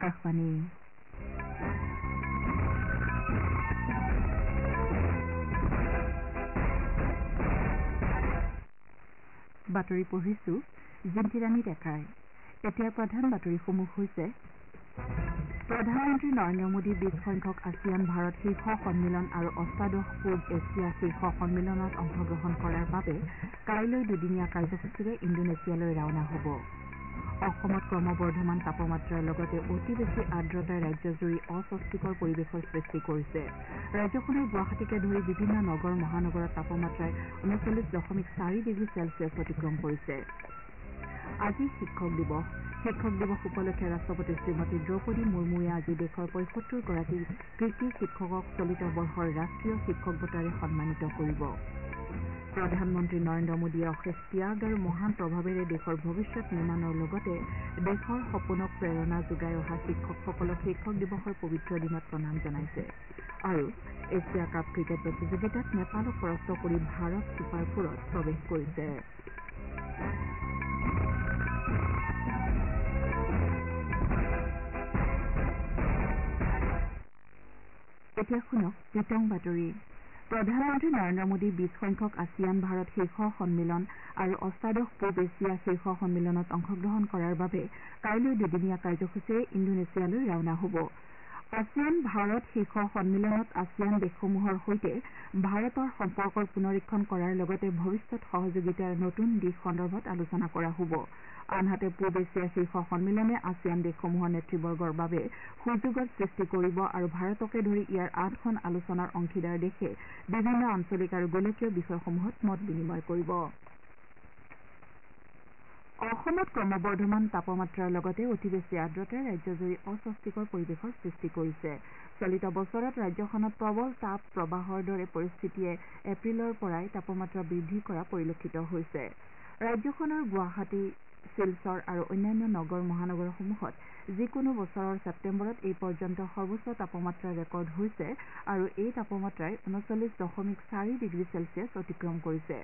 আকাশবাণী। বাতৰি পঢ়িছো জিন্তিৰাণী ডেকাই। এতিয়াৰ প্ৰধান বাতৰিসমূহ হৈছে: প্ৰধানমন্ত্ৰী নৰেন্দ্ৰ মোদী ২০ সংখ্যক আছিয়ান ভাৰত শীৰ্ষ সন্মিলন আৰু অষ্টাদশ পূব এছিয়া শীৰ্ষ সন্মিলনত অংশগ্ৰহণ কৰাৰ বাবে কাইলৈ দুদিনীয়া কাৰ্যসূচীৰে ইণ্ডোনেছিয়ালৈ ৰাওনা হ'ব। অসমত ক্ৰমবৰ্ধমান তাপমাত্ৰাৰ লগতে অতি বেছি আৰ্দ্ৰতাই ৰাজ্যজুৰি অস্বস্তিকৰ পৰিৱেশৰ সৃষ্টি কৰিছে। ৰাজ্যখনৰ গুৱাহাটীকে ধৰি বিভিন্ন নগৰ মহানগৰত তাপমাত্ৰাই ৩৯.৪ ডিগ্ৰী চেলছিয়াছ অতিক্ৰম কৰিছে। আজি শিক্ষক দিৱস। শিক্ষক দিৱস উপলক্ষে ৰাষ্ট্ৰপতি শ্ৰীমতী দ্ৰৌপদী মুৰ্মুৱে আজি দেশৰ ৭৫ গৰাকী কৃতী শিক্ষকক চলিত বৰ্ষৰ ৰাষ্ট্ৰীয় শিক্ষক বঁটাৰে সন্মানিত কৰিব। প্ৰধানমন্ত্ৰী নৰেন্দ্ৰ মোদীয়ে অশেষ ত্যাগ আৰু মহান প্ৰভাৱেৰে দেশৰ ভৱিষ্যত নিৰ্মাণৰ লগতে দেশৰ সপোনক প্ৰেৰণা যোগাই অহা শিক্ষকসকলক শিক্ষক দিৱসৰ পবিত্ৰ দিনত প্ৰণাম জনাইছে। আৰু এছিয়া কাপ ক্ৰিকেট প্ৰতিযোগিতাত নেপালক পৰাস্ত কৰি ভাৰত ছুপাৰ ফ'ৰত প্ৰৱেশ কৰিছে। এতিয়া শুনক বিতং বাতৰি। প্ৰধানমন্ত্ৰী নৰেন্দ্ৰ মোদী ২০ সংখ্যক আছিয়ান ভাৰত শীৰ্ষ সন্মিলন আৰু অষ্টাদশ পূব এছিয়া শীৰ্ষ সন্মিলনত অংশগ্ৰহণ কৰাৰ বাবে কাইলৈ দুদিনীয়া কাৰ্যসূচীৰে ইণ্ডোনেছিয়ালৈ ৰাওনা হ'ব। আছিয়ান ভাৰত শীৰ্ষ সন্মিলনত আছিয়ান দেশসমূহৰ সৈতে ভাৰতৰ সম্পৰ্কৰ পুনৰীক্ষণ কৰাৰ লগতে ভৱিষ্যত সহযোগিতাৰ নতুন দিশ সন্দৰ্ভত আলোচনা কৰা হ'ব। আনহাতে পূব এছিয়া শীৰ্ষ সন্মিলনে আছিয়ান দেশসমূহৰ নেতৃবৰ্গৰ বাবে সুযোগৰ সৃষ্টি কৰিব আৰু ভাৰতকে ধৰি ইয়াৰ ৮খন আলোচনাৰ অংশীদাৰ দেশে বিভিন্ন আঞ্চলিক আৰু গোলকীয় বিষয়সমূহত মত বিনিময় কৰিব। অসমত ক্ৰমবৰ্ধমান তাপমাত্ৰাৰ লগতে অতি বেছি আৰ্দ্ৰতাই ৰাজ্যজুৰি অস্বস্তিকৰ পৰিৱেশৰ সৃষ্টি কৰিছে। চলিত বছৰত ৰাজ্যখনত প্ৰবল তাপ প্ৰবাহৰ দৰে পৰিস্থিতিয়ে এপ্ৰিলৰ পৰাই তাপমাত্ৰা বৃদ্ধি কৰা পৰিলক্ষিত হৈছে। ৰাজ্যখনৰ গুৱাহাটী, শিলচৰ আৰু অন্যান্য নগৰ মহানগৰসমূহত যিকোনো বছৰৰ ছেপ্টেম্বৰত এই পৰ্যন্ত সৰ্বোচ্চ তাপমাত্ৰা ৰেকৰ্ড হৈছে আৰু এই তাপমাত্ৰাই ৩৯.৪ ডিগ্ৰী চেলছিয়াছ অতিক্ৰম কৰিছে।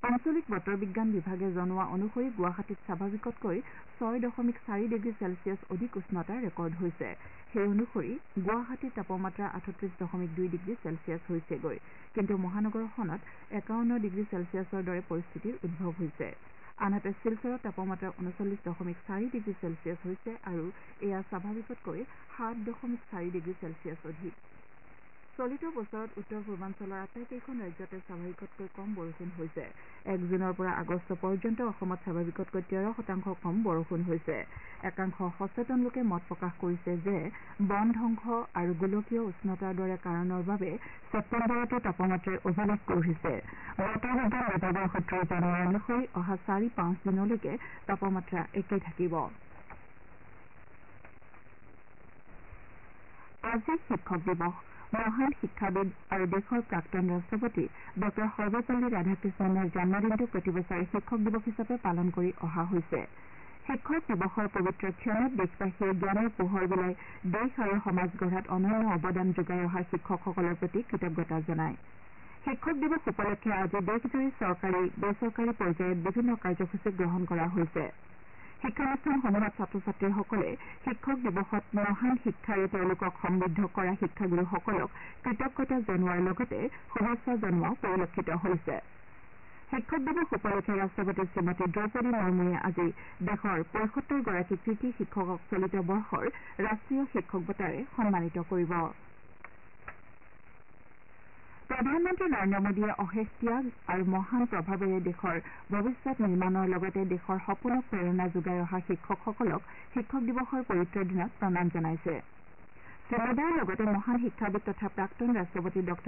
আঞ্চলিক বতৰ বিজ্ঞান বিভাগে জনোৱা অনুসৰি গুৱাহাটীত স্বাভাৱিকতকৈ ৬.৪ ডিগ্ৰী চেলছিয়াছ অধিক উষ্ণতা ৰেকৰ্ড হৈছে। সেই অনুসৰি গুৱাহাটীৰ তাপমাত্ৰা ৩৮.২ ডিগ্ৰী চেলছিয়াছ হৈছেগৈ। কিন্তু মহানগৰখনত ৫১ ডিগ্ৰী চেলছিয়াছৰ দৰে পৰিস্থিতিৰ উদ্ভৱ হৈছে। আনহাতে শিলচৰত তাপমাত্ৰা ৩৯.৪ ডিগ্ৰী চেলছিয়াছ হৈছে আৰু এয়া স্বাভাৱিকতকৈ ৭.৪ ডিগ্ৰী চেলছিয়াছ অধিক। চলিত বছৰত উত্তৰ পূৰ্বাঞ্চলৰ আটাইকেইখন ৰাজ্যতে স্বাভাৱিকতকৈ কম বৰষুণ হৈছে। ১ জুনৰ পৰা আগষ্ট পৰ্যন্ত অসমত স্বাভাৱিকতকৈ ১৩% কম বৰষুণ হৈছে। একাংশ সচেতন লোকে মত প্ৰকাশ কৰিছে যে বন ধ্বংস আৰু গোলকীয় উষ্ণতাৰ দৰে কাৰণৰ বাবে ছেপ্টেম্বৰতো তাপমাত্ৰাই অভিলেখ গঢ়িছে। বতৰ বিজ্ঞান বিভাগৰ সূত্ৰই জনোৱা অনুসৰি অহা ৪-৫ দিনলৈকে তাপমাত্ৰা একেই থাকিব। আজি শিক্ষক দিৱস। মহান শিক্ষাবিদ আৰু দেশৰ প্ৰাক্তন ৰাষ্ট্ৰপতি ডঃ সৰ্বপল্লী ৰাধাকৃষ্ণনৰ জন্মদিনটো প্ৰতিবছৰে শিক্ষক দিৱস হিচাপে পালন কৰি অহা হৈছে। শিক্ষক দিৱসৰ পবিত্ৰ ক্ষণত দেশবাসীয়ে জ্ঞানৰ পোহৰ বিলাই দেশ আৰু সমাজ গঢ়াত অনন্য অৱদান যোগাই অহা শিক্ষকসকলৰ প্ৰতি কৃতজ্ঞতা জনায়। শিক্ষক দিৱস উপলক্ষে আজি দেশজুৰি চৰকাৰী বেচৰকাৰী পৰ্যায়ত বিভিন্ন কাৰ্যসূচী গ্ৰহণ কৰা হৈছে। শিক্ষানুষ্ঠানসমূহত ছাত্ৰ ছাত্ৰীসকলে শিক্ষক দিৱসত মহান শিক্ষাৰে তেওঁলোকক সমৃদ্ধ কৰা শিক্ষাগুৰুসকলক কৃতজ্ঞতা জনোৱাৰ লগতে শুভেচ্ছা জনোৱাও পৰিলক্ষিত হৈছে। শিক্ষক দিৱস উপলক্ষে ৰাষ্ট্ৰপতি শ্ৰীমতী দ্ৰৌপদী মুৰ্মুৱে আজি দেশৰ ৭৫ গৰাকী কৃতী শিক্ষকক চলিত বৰ্ষৰ ৰাষ্ট্ৰীয় শিক্ষক বঁটাৰে সন্মানিত কৰিব। প্ৰধানমন্ত্ৰী নৰেন্দ্ৰ মোদীয়ে অশেষ ত্যাগ আৰু মহান প্ৰভাৱেৰে দেশৰ ভৱিষ্যত নিৰ্মাণৰ লগতে দেশৰ সপোনক প্ৰেৰণা যোগাই অহা শিক্ষকসকলক শিক্ষক দিৱসৰ পবিত্ৰ দিনত প্ৰণাম জনাইছে। শ্ৰী মোদীয়ে লগতে মহান শিক্ষাবিদ তথা প্ৰাক্তন ৰাষ্ট্ৰপতি ডঃ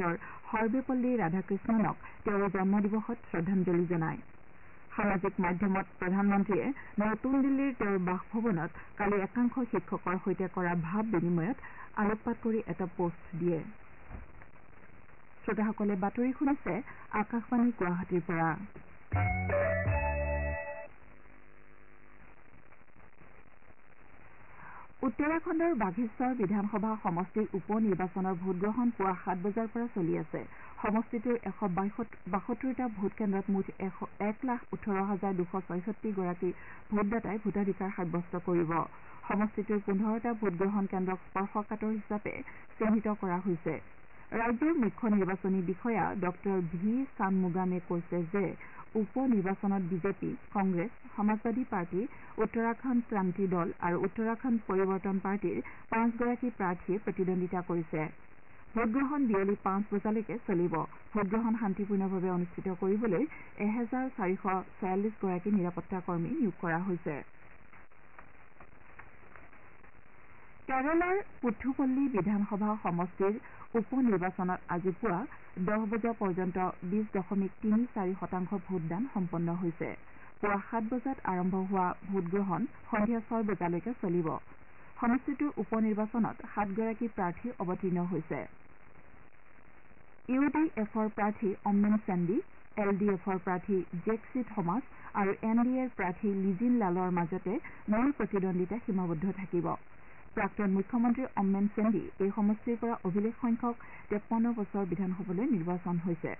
সৰ্বেপল্লী ৰাধাকৃষ্ণনক তেওঁৰ জন্মদিৱসত শ্ৰদ্ধাঞ্জলি জনায়। সামাজিক মাধ্যমত প্ৰধানমন্ত্ৰীয়ে নতুন দিল্লীৰ তেওঁৰ বাসভৱনত কালি একাংশ শিক্ষকৰ সৈতে কৰা ভাৱ বিনিময়ত আলোকপাত কৰি এটা পোষ্ট দিয়ে। শ্ৰোতাসকলে বাতৰি শুনিছে আকাশবাণী গুৱাহাটীৰ পৰা। উত্তৰাখণ্ডৰ বাঘেশ্বৰ বিধানসভা সমষ্টিৰ উপ নিৰ্বাচনৰ ভোটগ্ৰহণ পুৱা ৭ বজাৰ পৰা চলি আছে। সমষ্টিটোৰ ১৭২টা ভোটকেন্দ্ৰত মুঠ ১ লাখ ১৮ হাজাৰ ২৬৬ গৰাকী ভোটদাতাই ভোটাধিকাৰ সাব্যস্ত কৰিব। সমষ্টিটোৰ 15টা ভোটগ্ৰহণ কেন্দ্ৰক স্পৰ্শকাতৰ হিচাপে চিহ্নিত কৰা হৈছে। ৰাজ্যৰ মুখ্য নিৰ্বাচনী বিষয়া ডঃ ভি ছানমুগামে কৈছে যে উপ নিৰ্বাচনত বিজেপি, কংগ্ৰেছ, সমাজবাদী পাৰ্টী, উত্তৰাখণ্ড ক্ৰান্তি দল আৰু উত্তৰাখণ্ড পৰিৱৰ্তন পাৰ্টীৰ 5গৰাকী প্ৰাৰ্থীয়ে প্ৰতিদ্বন্দ্বিতা কৰিছে। ভোটগ্ৰহণ বিয়লি 5 বজালৈকে চলিব। ভোটগ্ৰহণ শান্তিপূৰ্ণভাৱে অনুষ্ঠিত কৰিবলৈ 1446 গৰাকী নিৰাপত্তা কৰ্মী নিয়োগ কৰা হৈছে। কেৰালাৰ পুথুপল্লী বিধানসভা সমষ্টিৰ উপ নিৰ্বাচনত আজি পুৱা 10 বজা পৰ্যন্ত 20.34 শতাংশ ভোটদান সম্পন্ন হৈছে। পুৱা 7 বজাত আৰম্ভ হোৱা ভোটগ্ৰহণ সন্ধিয়া 6 বজালৈকে চলিব। সমষ্টিটোৰ উপ নিৰ্বাচনত 7গৰাকী প্ৰাৰ্থী অৱতীৰ্ণ হৈছে। ইউ ডি এফৰ প্ৰাৰ্থী অম্মেন চেণ্ডি, এল ডি এফৰ প্ৰাৰ্থী জেকচি থমাছ আৰু এন ডি এৰ প্ৰাৰ্থী লিজিন লালৰ মাজতে মূল প্ৰতিদ্বন্দ্বিতা সীমাবদ্ধ থাকিব। প্ৰাক্তন মুখ্যমন্ত্ৰী অম্মেন চেণ্ডি এই সমষ্টিৰ পৰা অভিলেখ সংখ্যক 53 বছৰ বিধানসভালৈ নিৰ্বাচন হৈছে।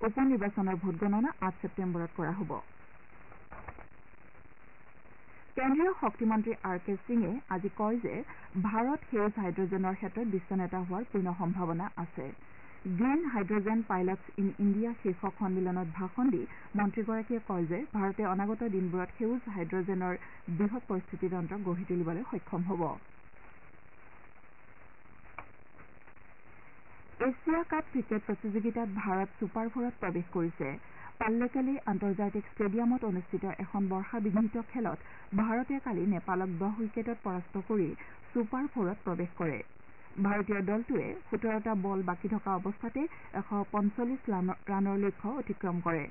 উপ নিৰ্বাচনৰ ভোটগণনা 8 ছেপ্টেম্বৰত কৰা হ'ব। কেন্দ্ৰীয় শক্তিমন্ত্ৰী আৰ কে সিঙে আজি কয় যে ভাৰত সেউজ হাইড্ৰজেনৰ ক্ষেত্ৰত বিশ্ব নেতা হোৱাৰ পূৰ্ণ সম্ভাৱনা আছে। Green hydrogen pilots in India শীৰ্ষক সন্মিলনত ভাষণ দি মন্ত্ৰীগৰাকীয়ে কয় যে ভাৰতে অনাগত দিনবোৰত সেউজ হাইড্ৰজেনৰ বৃহৎ পৰিস্থিতিতন্ত্ৰ গঢ়ি তুলিবলৈ সক্ষম হ'ব। এছিয়া কাপ ক্ৰিকেট প্ৰতিযোগিতাত ভাৰত ছুপাৰ ফ'ৰত প্ৰৱেশ কৰিছে। পাল্লেকেলি আন্তৰ্জাতিক ষ্টেডিয়ামত অনুষ্ঠিত এখন বৰ্ষাবিঘ্নিত খেলত ভাৰতে কালি নেপালক 10 উইকেটত পৰাস্ত কৰি ছুপাৰ ফ'ৰত প্ৰৱেশ কৰে। ভাৰতীয় দলটোৱে 17টা বল বাকী থকা অৱস্থাতে 145 ৰানৰ লক্ষ্য অতিক্ৰম কৰে।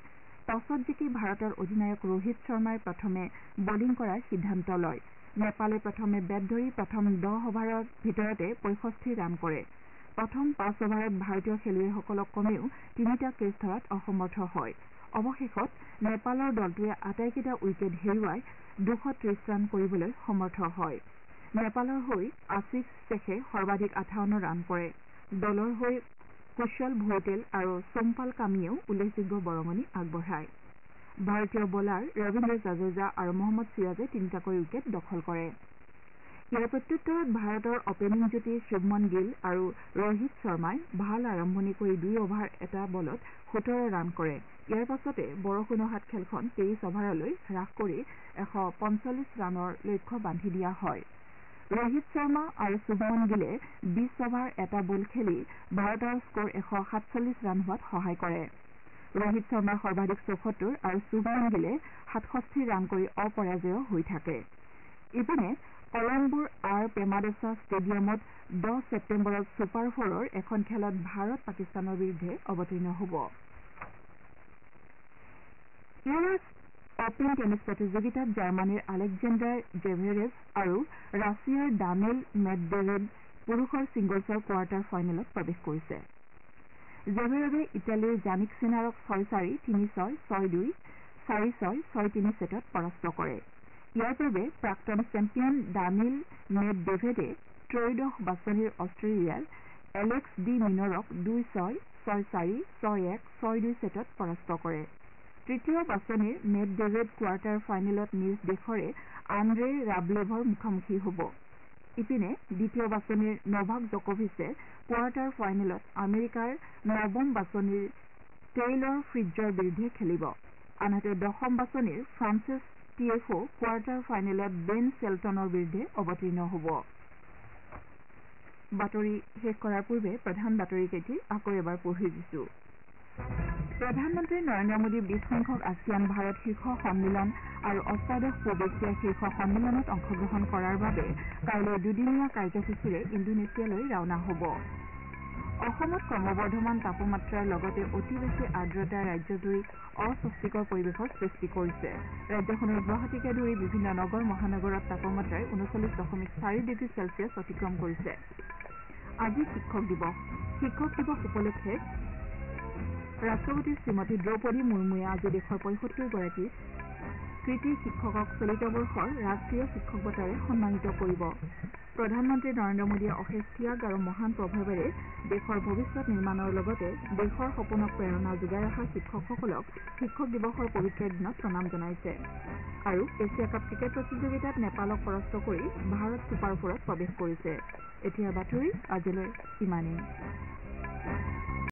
টছত জিকি ভাৰতৰ অধিনায়ক ৰোহিত শৰ্মাই প্ৰথমে বলিং কৰাৰ সিদ্ধান্ত লয়। নেপালে প্ৰথমে বেট ধৰি প্ৰথম 10 অভাৰৰ ভিতৰতে 65 ৰান কৰে। প্ৰথম 5 অভাৰত ভাৰতীয় খেলুৱৈসকলক কমেও 3টা কেচ ধৰাত অসমৰ্থ হয়। অৱশেষত নেপালৰ দলটোৱে আটাইকেইটা উইকেট হেৰুৱাই 230 ৰান কৰিবলৈ সমৰ্থ হয়। নেপালৰ হৈ আশিস শ্বেখে সৰ্বাধিক 58 ৰান কৰে। দলৰ হৈ কুশল ভৌটেল আৰু সোমপাল কামিয়েও উল্লেখযোগ্য বৰঙণি আগবঢ়ায়। ভাৰতীয় বলাৰ ৰবীন্দ্ৰ জাদেজা আৰু মহম্মদ চিৰাজে 3টাকৈ উইকেট দখল কৰে। ইয়াৰ প্ৰত্যুত্তৰত ভাৰতৰ অপেনিং যুটি শুভমন গিল আৰু ৰোহিত শৰ্মাই ভাল আৰম্ভণি কৰি 2 অভাৰ 1 বলত 17 ৰান কৰে। ইয়াৰ পাছতে বৰষুণ অহাত খেলখন 23 অভাৰলৈ হ্ৰাস কৰি 145 ৰানৰ লক্ষ্য বান্ধি দিয়া হয়। ৰোহিত শৰ্মা আৰু শুভমন গিলে 20 অভাৰ 1 বল খেলি ভাৰতৰ স্ক'ৰ 147 ৰান হোৱাত সহায় কৰে। ৰোহিত শৰ্মাই সৰ্বাধিক 74 আৰু শুভমন গিলে 67 ৰান কৰি অপৰাজেয় হৈ থাকে। ইপিনে কলম্বোৰ আৰ প্ৰেমাদাসা ষ্টেডিয়ামত 10 ছেপ্টেম্বৰত ছুপাৰ ফ'ৰৰ এখন খেলত ভাৰত পাকিস্তানৰ বিৰুদ্ধে অৱতীৰ্ণ হ'ব। ইউ এছ অপেন টেনিছ প্ৰতিযোগিতাত জাৰ্মানীৰ আলেকজেণ্ডাৰ জেভেৰেভ আৰু ৰাছিয়াৰ দানিল মেডভেডেভ পুৰুষৰ ছিংগলছৰ কোৱাৰ্টাৰ ফাইনেলত প্ৰৱেশ কৰিছে। জেভেৰেভে ইটালীৰ জানিক চিনাৰক 6-4, 3-6, 6-2, 4-6, 6-3 ছেটত পৰাস্ত কৰে। ইয়াৰ পূৰ্বে প্ৰাক্তন চেম্পিয়ন দানিল মেডভেডেভে ত্ৰয়োদশ বাছনিৰ অষ্ট্ৰেলিয়াৰ এলেক্স ডি মিনৰক 2-6, 6-4, 6-1, 6-2 ছেটত পৰাস্ত কৰে। তৃতীয় বাছনিৰ মেডভেডেভ কোৱাৰ্টাৰ ফাইনেলত নিজ দেশৰে আন্দ্ৰে ৰাবলেভৰ মুখামুখি হ'ব। ইপিনে দ্বিতীয় বাছনিৰ নভাক জকোভিচে কোৱাৰ্টাৰ ফাইনেলত আমেৰিকাৰ নৱম বাছনিৰ টেইলৰ ফ্ৰিটজৰ বিৰুদ্ধে খেলিব। আনহাতে দশম বাছনিৰ ফ্ৰান্সিছ টিয়েফো কোৱাৰ্টাৰ ফাইনেলত বেন চেল্টনৰ বিৰুদ্ধে অৱতীৰ্ণ হ'ব। বাতৰি শেষ কৰাৰ পূৰ্বে প্ৰধান বাতৰিকেইটি আকৌ এবাৰ পঢ়ি দিছো। প্ৰধানমন্ত্ৰী নৰেন্দ্ৰ মোদী 20 সংখ্যক আছিয়ান ভাৰত শীৰ্ষ সন্মিলন আৰু অষ্টাদশ পূব এছিয়া শীৰ্ষ সন্মিলনত অংশগ্ৰহণ কৰাৰ বাবে কাইলৈ দুদিনীয়া কাৰ্যসূচীৰে ইণ্ডোনেছিয়ালৈ ৰাওনা হ'ব। অসমত ক্ৰমবৰ্ধমান তাপমাত্ৰাৰ লগতে অতি বেছি আৰ্দ্ৰতাই ৰাজ্যজুৰি অস্বস্তিকৰ পৰিৱেশৰ সৃষ্টি কৰিছে। ৰাজ্যখনৰ গুৱাহাটীকে ধৰি বিভিন্ন নগৰ মহানগৰত তাপমাত্ৰাই 39.4 ডিগ্ৰী চেলছিয়াছ অতিক্ৰম কৰিছে। আজি শিক্ষক দিৱস। শিক্ষক দিৱস উপলক্ষে ৰাষ্ট্ৰপতি শ্ৰীমতী দ্ৰৌপদী মুৰ্মুৱে আজি দেশৰ 75 গৰাকী কৃতী শিক্ষকক চলিত বৰ্ষৰ ৰাষ্ট্ৰীয় শিক্ষক বঁটাৰে সন্মানিত কৰিব। প্ৰধানমন্ত্ৰী নৰেন্দ্ৰ মোদীয়ে অশেষ ত্যাগ আৰু মহান প্ৰভাৱেৰে দেশৰ ভৱিষ্যত নিৰ্মাণৰ লগতে দেশৰ সপোনক প্ৰেৰণা যোগাই অহা শিক্ষকসকলক শিক্ষক দিৱসৰ পবিত্ৰ দিনত প্ৰণাম জনাইছে। আৰু এছিয়া কাপ ক্ৰিকেট প্ৰতিযোগিতাত নেপালক পৰাস্ত কৰি ভাৰত ছুপাৰ ফ'ৰত প্ৰৱেশ কৰিছে। এতিয়াৰ বাতৰি আজিলৈ ইমানেই।